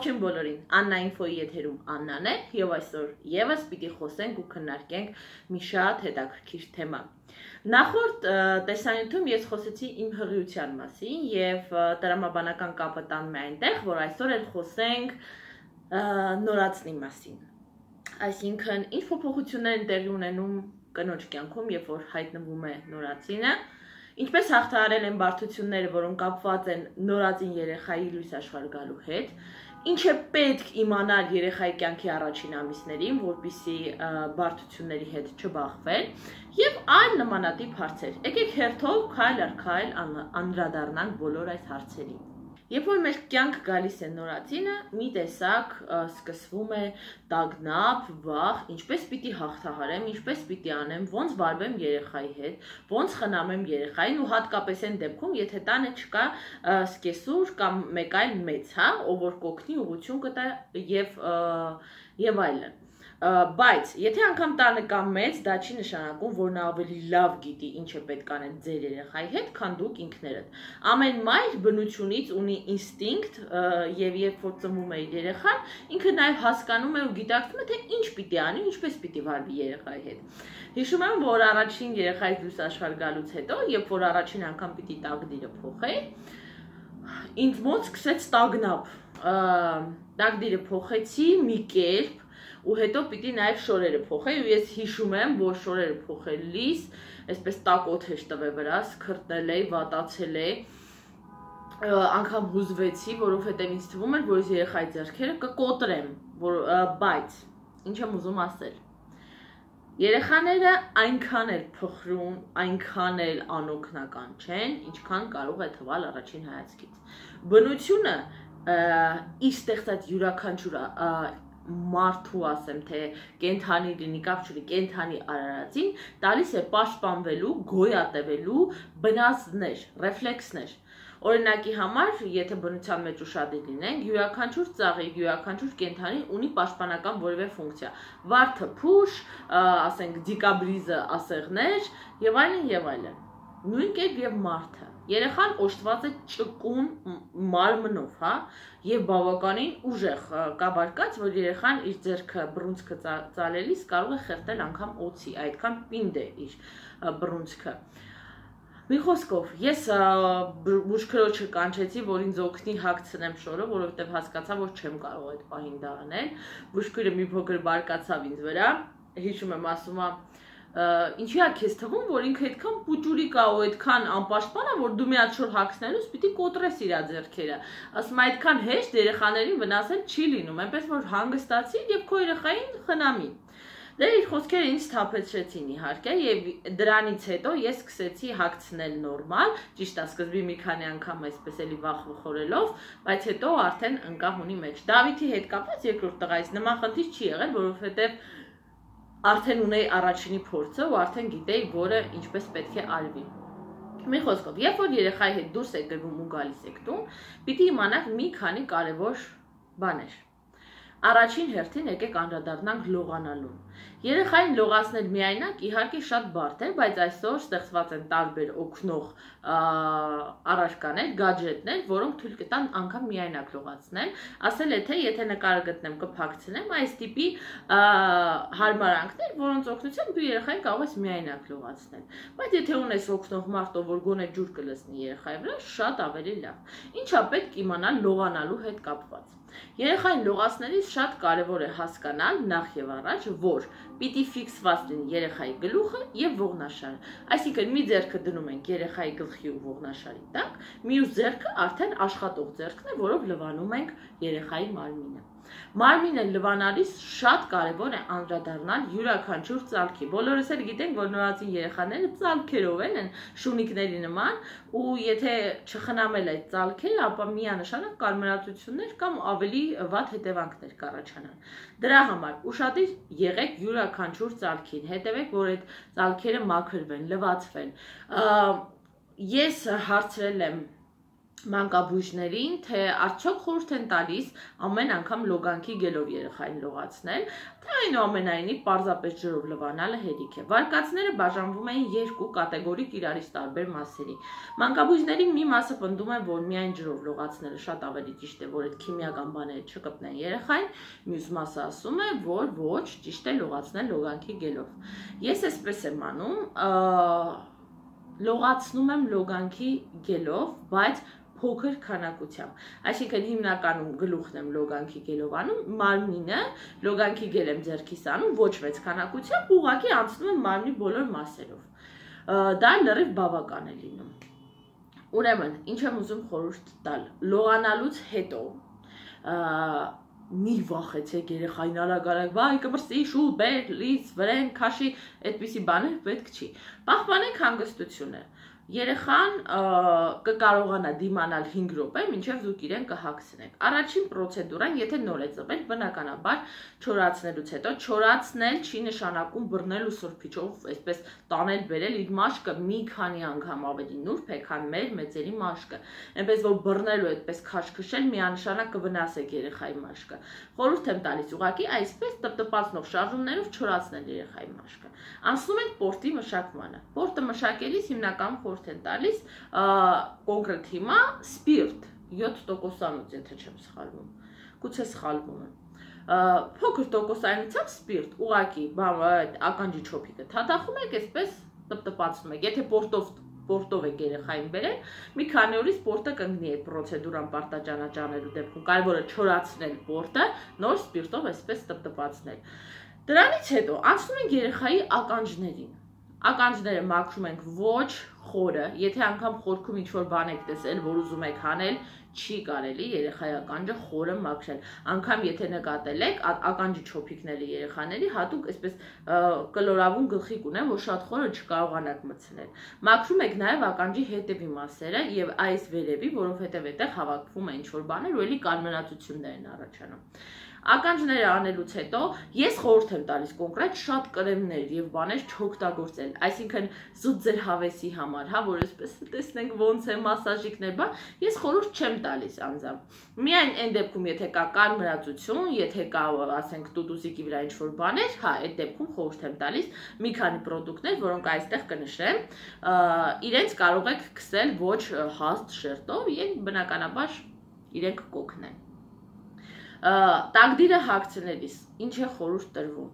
Ողջույն բոլորին, Աննա ինֆոյի եթերում Աննան է, եւ այսօր եւս պիտի խոսենք ու քննարկենք մի շատ հետաքրքիր թեմա։ Նախորդ տեսանյութում ես խոսեցի իմ հղիության մասին եւ տրամաբանական կապը տանում է այնտեղ, որ այսօր էլ խոսենք նորածնի մասին։ Այսինքն, ինչ փոփոխություններ են տեղի ունենում կնոջ կյանքում, երբ որ հայտնվում է նորածինը, ինչպես հաղթահարել են բարդությունները, որոնք կապված են նորածին երեխայի լույս աշխարհ գալու հետ, ինչ է պետք իմանալ երեխայի կյանքի առաջին ամիսներին, որպեսզի բարդությունների հետ չբախվել, եւ այլ նմանատիպ հարցեր։ Եկեք հերթով քայլ առ քայլ անդրադառնանք բոլոր այս հարցերին։ Երբ որ մեր կյանք գալիս է նորածինը, մի տեսակ սկսվում է տագնապ, վախ, ինչպես պիտի հաղթահարեմ, ինչպես պիտի անեմ, ոնց վարվեմ երեխայի հետ, ոնց խնամեմ երեխային ու հատկապես այն դեպքում, եթե տանը չկա սկեսուր կամ մեկ այլ մեծ, ով որ կօգնի ուղղություն կտա եւ այլն։ Բայց եթե անգամ տանը կա մեծ, դա չի նշանակում, որ նա ավելի լավ գիտի ինչ է պետք անել ձեր երեխայի հետ, քան դուք ինքներդ։ Ամեն մայր բնությունից ունի ինստինկտ եւ երբ որ ծնվում է երեխան, ինքը նաեւ հասկանում է ու գիտակցում է, թե ինչ պիտի անի, ինչպես պիտի վարվի երեխայի հետ։ Հիշում եմ, որ առաջին երեխայի լույս աշխարհ գալուց հետո, երբ որ առաջին անգամ պիտի տակդիրը փոխեի, ինձ մոտ սկսեց տագնապ։ Տակդիրը փոխեցի մի կերպ ու հետո պիտի նաև շորերը փոխեի ու ես հիշում եմ, որ շորերը փոխելիս այսպես տաք օդ էջ տվե վրաս, քրտնել էի, վատացել էի, անգամ հուզվեցի, որովհետև ինձ թվում էր, որ ես երեխայի ձեռքերը կկոտրեմ, բայց ինչ եմ ուզում ասել։ Երեխաները այնքան էլ փխրուն, այնքան էլ անօգնական չեն, ինչքան կարող է թվալ առաջին հայացքից։ Բնությունը իր ստեղծած յուրաքանչյուր մարդու ասեմ, թե կենթանի լինի կապ չունի, կենթանի արարածին տալիս է պաշտպանվելու, գոյատևելու բնազդներ, ռեֆլեքսներ։ Օրինակի համար, եթե բնության մեջ ուշադիր լինենք, յուրաքանչյուր ծաղիկ, յուրաքանչյուր կենթանի ունի պաշտպանական որևէ ֆունկցիա։ Վարդը փուշ, ասենք դիկաբրիզը ասեղներ եւ այլն եւ այլն։ Նույն կերպ եւ մարդը։ Երեխան օժտված է ճկուն մարմնով, եւ բավականին ուժեղ կաբարկած, որ երեխան իր ձեռքը բռունցքը ծալելիս կարող է խեղդել անգամ օձի, այդքան պինդ է իր բռունցքը։ Մի խոսքով, ես բուժքրոջը կանչեցի, որ ինձ օգնի հագցնեմ շորը, որովհետև հասկացա, որ չեմ կարող այդ պահին դա անել։ Բուժքուրը մի փոքր բարկացավ ինձ վրա, հիշում եմ, ասում է, ինչի է քեզ թվում, որ ինքը այդքան պուճուրիկ է ու այդքան անպաշտպան է, որ դու մի հատ շոր հագցնելուց պիտի կոտրես իր ձեռքերը։ Ասում է, այդքան հեշտ երեխաներին վնասել չի լինում, այնպես որ հանգստացի եւ քո երեխային խնամի։ Դե իր խոսքերը ինձ թափեցրեցին իհարկե եւ դրանից հետո ես սկսեցի հագցնել նորմալ, ճիշտ է, սկզբի մի քանի անգամ այսպես էլի վախվխորելով, բայց հետո արդեն ընկավ ունի մեջ։ Դավիթի հետ կապված երկրորդ տղայից նման խնդիր չի եղել, որովհետեւ արդեն ունեի առաջինի փորձը ու արդեն գիտեի, որը ինչպես պետք է արվի։ Մի խոսքով, երբ որ երեխայի հետ դուրս եք գնում ու գալիս եք տուն, պիտի իմանաք մի քանի կարևոր բաներ։ Առաջին հերթին եկեք անդրադառնանք լողանալուն։ Երեխային լողացնել միայնակ իհարկե շատ բարդ է, բայց այսօր ստեղծված են տարբեր օգնող առարկաներ, գadgetներ, որոնք թույլ կտան անգամ միայնակ լողացնել։ Ասել է թե եթե նկարը գտնեմ կփակցնեմ այս տիպի հարմարանքներ, որոնց օգնությամբ դու երեխային կարող ես միայնակ լողացնել։ Բայց եթե ունես օգնող մարդ, որ գոնե ջուր կլցնի երեխայի վրա, շատ ավելի լավ։ Ինչա պետք իմանալ լողանալու հետ կապված։ Երեխային լողացնելիս շատ կարևոր է հասկանալ նախ եւ առաջ, որ պիտի ֆիքսված լինի երեխայի գլուխը եւ ողնաշարը։ Այսինքն մի ձեռքը դնում ենք երեխայի գլխի ու ողնաշարի տակ, մյուս ձեռքը արդեն աշխատող ձեռքն է, որով լվանում ենք երեխայի մարմինը։ Մարմինը լվանալիս շատ կարևոր է անդրադառնալ յուրաքանչյուր ծալքի։ Բոլորս էլ գիտենք, որ նորածին երեխաները ծալքերով են շունիկների նման, ու եթե չխնամել այդ ծալքերը, ապա միանշանակ կարմրածություններ կամ ավելի վատ հետևանքներ կառաջանան։ Դրա համար ուշադիր եղեք յուրաքանչյուր ծալքին, հետևեք, որ այդ ծալքերը մաքրվեն, լվացվեն։ Ես հարցրել եմ մանկաբույժներին, թե արդյոք խորհուրդ են տալիս ամեն անգամ լոգանքի գելով երեխային լողացնել, թե այնուամենայնիվ պարզապես ջրով լվանալը հերիք է։ Վարկածները բաժանվում են երկու կատեգորիկ իրարից տարբեր մասերի։ Մանկաբույժների մի մասը պնդում է, որ միայն ջրով լողացնելը շատ ավելի ճիշտ է, որ այդ քիմիական բաները չկպնեն երեխային, մյուս մասը ասում է, որ ոչ, ճիշտ է լողացնել լոգանքի գելով։ Ես այսպես եմ անում, լողացնում եմ լոգանքի գելով, բայց փոքր քանակությամբ, այսինքն հիմնականում գլուխն եմ լոգանքի գելով անում, մարմինը լոգանքի գել եմ ձեռքիս անում, ոչ մեծ քանակությամբ, ուղղակի անցնում եմ մարմնի բոլոր մասերով, դա լրիվ բավական է լինում։ Ուրեմն, ինչ եմ ուզում խորհուրդ տալ, լողանալուց հետո մի վախեցեք երեխային արագ-արագ, վայ կմրսի, շուտ, բեր, լից, վրեն, քաշի, այդպիսի բաներ պետք չի։ Պահպանենք հանգստությունը։ Երեխան կկարողանա դիմանալ 5 րոպե, մինչև դուք իրեն կհագցնեք։ Առաջին պրոցեդուրան, եթե նոր է ծնվել, բնականաբար չորացնելուց հետո, չորացնել չի նշանակում բռնել ու սրբիչով, այսպես տանել բերել իր մաշկը մի քանի անգամ ավելի նուրբ է, քան մեր մեծերի մաշկը։ Այնպես որ բռնելու այդպես քաշքշել միանշանակ կվնասեք երեխայի մաշկը։ Խորհուրդ եմ տալիս ուղղակի այսպես տպտպացնող շարժումներով չորացնել երեխայի մաշկը։ Անցնում ենք պորտի մշակմանը։ Պորտը մշակելիս հիմնական խորհուրդ են տալիս կոնկրետ հիմա սպիրտ 7%-անոց, եթե չեմ սխալվում, գուցե սխալվում եմ, փոքր տոկոսայնությամբ սպիրտ, ուղղակի ականջի չոփիկը թաթախում եք, այսպես տպտպացնում եք, եթե պորտով եք երեխային բերել, մի քանի օրից պորտը կընկնի այդ պրոցեդուրան պարտաճանաճանելու դեպքում, կարևորը չորացնել պորտը, նոր սպիրտով այսպես տպտպացնել։ Դրանից հետո անցնում ենք երեխայի ականջներին։ Ականջները մաքրում ենք ոչ խորը, եթե անգամ խորքում ինչ-որ բան եք տեսել, որ ուզում եք հանել, չի կարելի երեխայի ականջը խորը մաքրել։ Անգամ եթե նկատել եք, ականջի չոփիկները երեխաների հատուկ այսպես կլորավուն գլխիկ ունեն, որ շատ խորը չկարողանաք մտցնել։ Մաքրում եք նաև ականջի հետևի մասերը եւ այս վերևի, որովհետեւ այդտեղ հավաքվում է ինչ-որ բաներ, ու էլի կարմրացություններ են առաջանում։ Ականջները անելուց հետո ես խորհուրդ եմ տալիս կոնկրետ շատ կրեմներ եւ բաներ չօգտագործել, այսինքն զուտ ձեր հավեսի համար, հա, որ այսպես տեսնենք ոնց է մասաժիկներ, բա ես խորհուրդ չեմ տալիս անձամբ։ Միայն այն դեպքում, եթե կա կարմրացություն, եթե կա, ասենք, տուտուսիկի վրա ինչ-որ բաներ, հա, այդ դեպքում խորհուրդ եմ տալիս մի քանի պրոդուկտներ, որոնք այստեղ կնշեմ, իրենց կարող եք քսել ոչ հաստ շերտով եւ բնականաբար իրենք կօգնեն։ Տակդիրը հագցնելիս ինչ է խորհուրդ տրվում,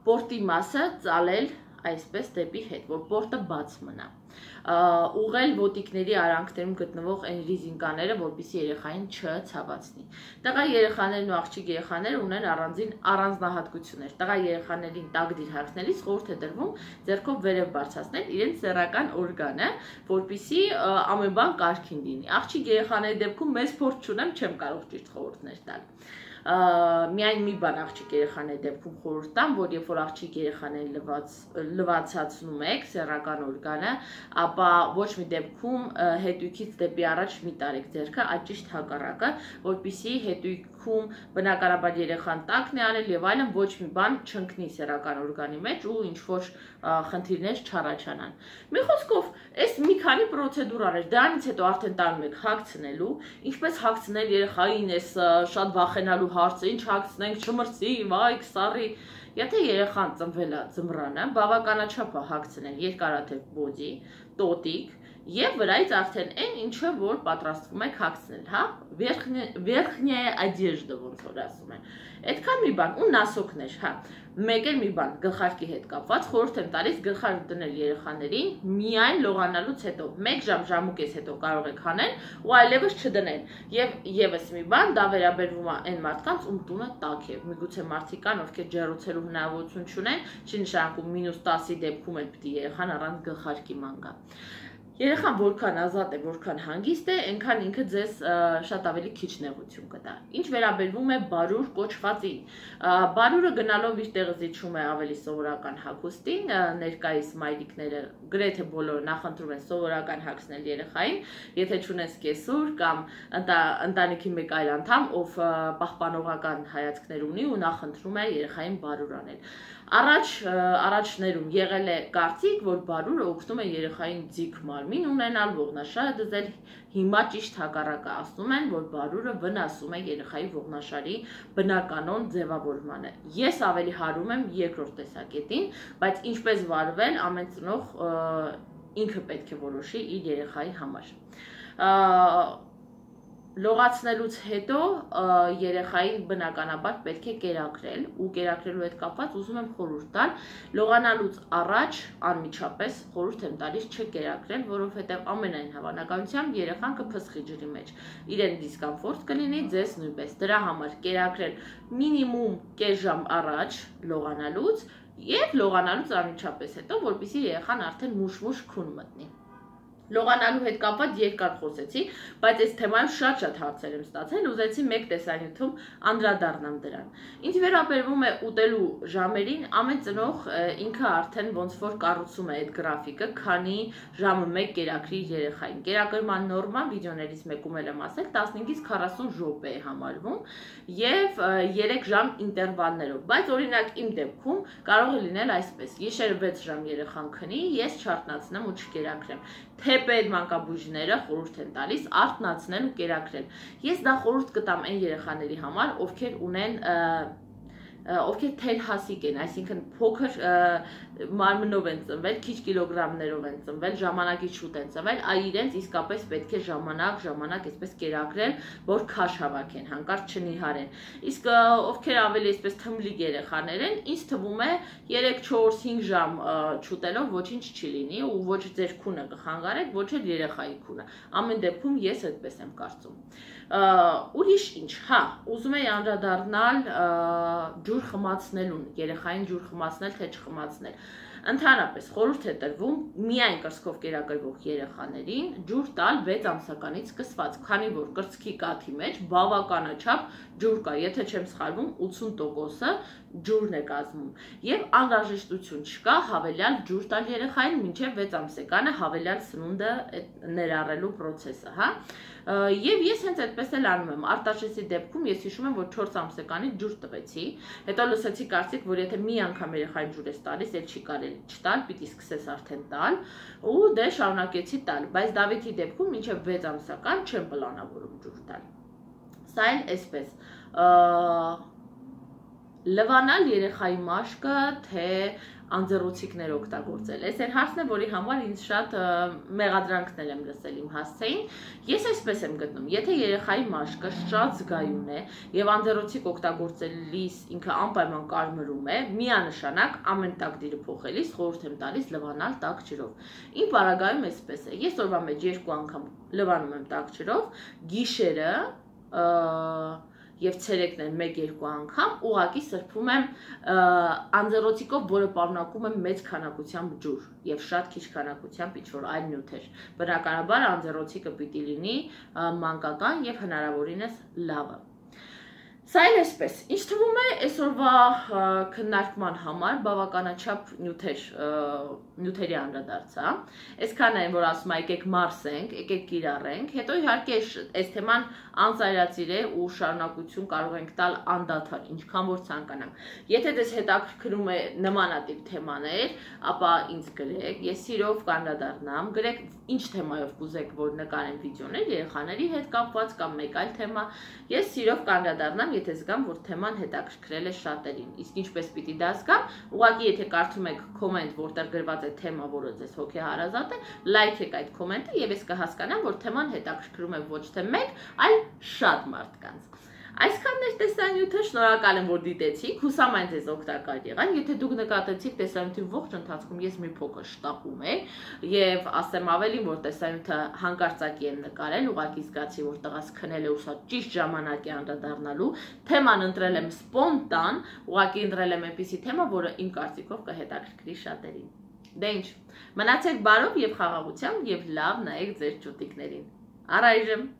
պորտի մասը ծալել այսպես դեպի հետ, որ պորտը բաց մնա, ուղղել ոտիկների արանքներում գտնվող այն ռիզինկաները, որպեսզի երեխային չցավացնի։ Տղա երեխաներն ու աղջիկ երեխաները ունեն առանձին առանձնահատկություններ։ Տղա երեխաներին տակդիր հագցնելիս խորհուրդ է տրվում ձեռքով վերև բարձրացնել իրենց սեռական օրգանը, որպեսզի ամեն բան կարգին լինի։ Աղջիկ երեխաների դեպքում մեծ փորձ չունեմ, չեմ կարող ճիշտ խորհուրդներ տալ։ Միայն մի բան աղջիկ երեխաների դեպքում խորհուրդ տամ, որ երբ որ աղջիկ երեխաներին լվացացնում եք սեռական օրգանը, ապա ոչ մի դեպքում հետույքից դեպի առաջ մի տարեք ձեռքը, այլ ճիշտ հակառակը, որպեսզի հետույքում բնականաբար երեխան տակն է արել եւ այլն, ոչ մի բան չընկնի սեռական օրգանի մեջ ու ինչ որ խնդիրներ չառաջանան։ Մի խոսքով, այս մի քանի պրոցեդուրաներ, դրանից հետո արդեն տանում եք հագցնելու, ինչպես հագցնել երեխային, այս շատ վախենալու հարցը, ինչ հագցնենք, չմրսի, վայ, կսառի։ Եթե երեխան ծնվել է ձմռանը, բավականաչափ է հագցնել երկարաթև բոդի, տոտիկ եւ վրայից արդեն այն ինչը որ պատրաստվում եք հագցնել, հա, верхняя одежда, ոնց որ ասում են։ Այդքան մի բան ու նասոկներ, հա։ Մեկ էլ մի բան գլխարկի հետ կապված խորհուրդ եմ տալիս գլխարկ դնել երեխաներին միայն լողանալուց հետո 1 ժամ, ժամուկես հետո կարող եք հանել ու այլևս չդնել։ Եվ եւս մի բան, դա վերաբերվում է այն մարդկանց, ում տունը տաք է։ Միգուցե մարդիկ կան, ովքեր ջեռուցելու հնարավորություն չունեն, չի նշանակում -10-ի դեպքում էլ պիտի երեխան առանց գլխարկի ման գա։ Երեխան որքան ազատ է, որքան հանգիստ է, այնքան ինքը ձեզ շատ ավելի քիչ նեղություն կտա։ Ինչ վերաբերվում է բարուր կոչվածին, բարուրը գնալով իր տեղը զիջում է ավելի սովորական հագուստին, ներկայիս մայրիկները գրեթե բոլորը նախընտրում են սովորական հագցնել երեխային, եթե չունես կեսուր կամ ընտանիքի մեկ այլ անդամ, ով պահպանողական հայացքներ ունի ու նախընտրում է երեխային բարուր անել։ Առաջներում եղել է կարծիք, որ բարուրը օգնում է երեխային ձիգ մարմին ունենալ, ողնաշարը դզել, հիմա ճիշտ հակառակը ասում են, որ բարուրը վնասում է երեխայի ողնաշարի բնականon ձևավորմանը։ Ես ավելի հարում եմ երկրորդ տեսակետին, բայց ինչպես վարվել ամեն ծնող ինքը պետք է որոշի իր երեխայի համար։ Լողացնելուց հետո երեխային բնականաբար պետք է կերակրել ու կերակրելու հետ կապված ուզում եմ խորհուրդ տալ լողանալուց առաջ անմիջապես խորհուրդ եմ տալիս չկերակրել, որովհետև ամենայն հավանականությամբ երեխան կփսխի ջրի մեջ, իրեն դիսկոմֆորտ կլինի, ձեզ նույնպես, դրա համար կերակրել մինիմում կես ժամ առաջ լողանալուց եւ լողանալուց անմիջապես հետո, որպեսզի երեխան արդեն մուշ-մուշ քուն մտնի։ Լողանալու հետ կապված երկար խոսեցի, բայց այս թեմայով շատ հարցեր եմ ստացել, ուզեցի մեկ տեսանյութում անդրադառնամ դրան։ Ինչ վերաբերվում է ուտելու ժամերին, ամեն ծնող ինքը արդեն ոնց որ կառուցում է այդ գրաֆիկը, քանի ժամը 1 կերակրի երեխային։ Կերակրման նորման վիդեոներից մեկում էլ եմ ասել 15-ից 40 րոպե է համարվում եւ 3 ժամ ինտերվալներով, բայց օրինակ իմ դեպքում կարող է լինել այսպես. Գիշերը 6 ժամ երեխան քնի, ես չարթնացնեմ ու չկերակրեմ։ Թեպետ մանկաբույժները խորհուրդ են տալիս արթնացնել ու կերակրել։ Ես դա խորհուրդ կտամ այն երեխաների համար, ովքեր ունեն ովքեր թերհասիկ են, այսինքն փոքր մարմնով են ծնվել, քիչ կիլոգրամներով են ծնվել, ժամանակից շուտ են ծնվել, իրենց իսկապես պետք է ժամանակ այսպես կերակրել, որ քաշ հավաքեն, հանկարծ չնիհարեն։ Իսկ ովքեր ավելի այսպես թմլիկ երեխաներ են, ինձ թվում է 3-4-5 ժամ չուտելով ոչինչ չի լինի ու ոչ ձեր քունը կխանգարեք, ոչ էլ երեխայի քունը։ Ամեն դեպքում ես այդպես եմ կարծում։ Ուրիշ ինչ, հա, ուզում եի անդրադառնալ ջուր խմացնելուն, երեխային ջուր խմացնել, թե չխմացնել։ Ընդհանրապես խորհուրդ է տրվում միայն կրծքով կերակրվող երեխաներին ջուր տալ 6 ամսականից սկսված, քանի որ կրծքի կաթի մեջ բավականաչափ ջուր կա, եթե չեմ սխալվում, 80%-ը ջուրն է կազմում, եւ անհրաժեշտություն չկա հավելյալ ջուր տալ երեխային մինչեւ 6 ամսեկանը հավելյալ սնունդը ներառելու process-ը, հա։ Եվ ես հենց այդպես էլ անում եմ։ Արտաշեսի դեպքում ես հիշում եմ, որ 4 ամսեկանից ջուր տվեցի, հետո լսեցի կարծիք, որ եթե մի անգամ երեխային ջուր ես տալիս, էլ չի կարելի չտալ, պիտի սկսես արդեն տալ, ու դե շարունակեցի տալ, բայց Դավիթի դեպքում մինչև 6 ամսական չեմ պլանավորում ջուր տալ։ Սա էլ այսպես լվանալ երեխայի մաշկը, թե անձեռոցիկներ օգտագործել։ Այս այն հարցն է, որի համար ինձ շատ մեղադրանքներ եմ լսել իմ հասցեին։ Ես այսպես եմ գտնում, եթե երեխայի մաշկը շատ զգայուն է եւ անձեռոցիկ օգտագործելիս ինքը անպայման կարմրում է, միանշանակ ամեն տակդիրը փոխելիս խորհուրդ եմ տալիս լվանալ տաք ջրով։ Իմ պարագայում այսպես է, ես օրվա մեջ 2 անգամ լվանում եմ տաք ջրով, գիշերը եւ ցերեկն են 1-2 անգամ ուղակի սրբում եմ անձեռոցիկով, որը պարունակում է մեծ քանակությամբ ջուր եւ շատ քիչ քանակությամբ ինչ-որ այլ նյութեր։ Բնականաբար անձեռոցիկը պիտի լինի մանկական եւ հնարավորինս լավը։ Սա էլ այսպես, ինչ թվում է այսօրվա քննարկման համար բավականաչափ նյութերի անդրադարձա, այսքան այն, որ ասում է եկեք մարսենք, եկեք կիրառենք, հետո իհարկե այս թեման անծայրածիր է ու շարունակություն կարող ենք տալ անդադար, ինչքան որ ցանկանանք։ Եթե դες հետաքրքրում է նմանատիպ թեմաներ, ապա ինձ գրեք, ես սիրով կանդրադառնամ, գրեք ինչ թեմայով կուզեք, որ նկարեմ վիդեոներ երեխաների հետ կապված կամ մեկ այլ թեմա, ես սիրով կանդրադառնամ, եթե զգամ, որ թեման հետաքրքրել է շատերին, իսկ ինչպես պիտի դա զգամ, ուղղակի եթե կարդում եք կոմենտ, որտեղ գրված է թեմա, որը ձեզ հոգեհարազատ է, լայքեք այդ կոմենտը եւ ես կհասկանամ, որ թեման հետաքրքրում է ոչ թե մեկ, այլ շատ մարդկանց։ Այսքանն էր տեսանյութը, շնորհակալ եմ, որ դիտեցիք, հուսամ այն ձեզ օգտակար եղան, եթե դուք նկատեցիք տեսանյութի ողջ ընթացքում ես մի փոքր շտապում եմ եւ ասեմ ավելին, որ տեսանյութը հանկարծակի եմ նկարել, ուղղակի զգացի, որ տղաս քնել է ու սա ճիշտ ժամանակ է անդրադառնալու, թեման ընտրել եմ սպոնտան, ուղղակի ընտրել եմ այնպիսի թեմա, որը իմ կարծիքով կհետաքրքրի շատերին։ Դե ինչ, մնացեք բարով եւ խաղաղությամբ եւ լավ նայեք ձեր ճուտիկներին։ Առայժմ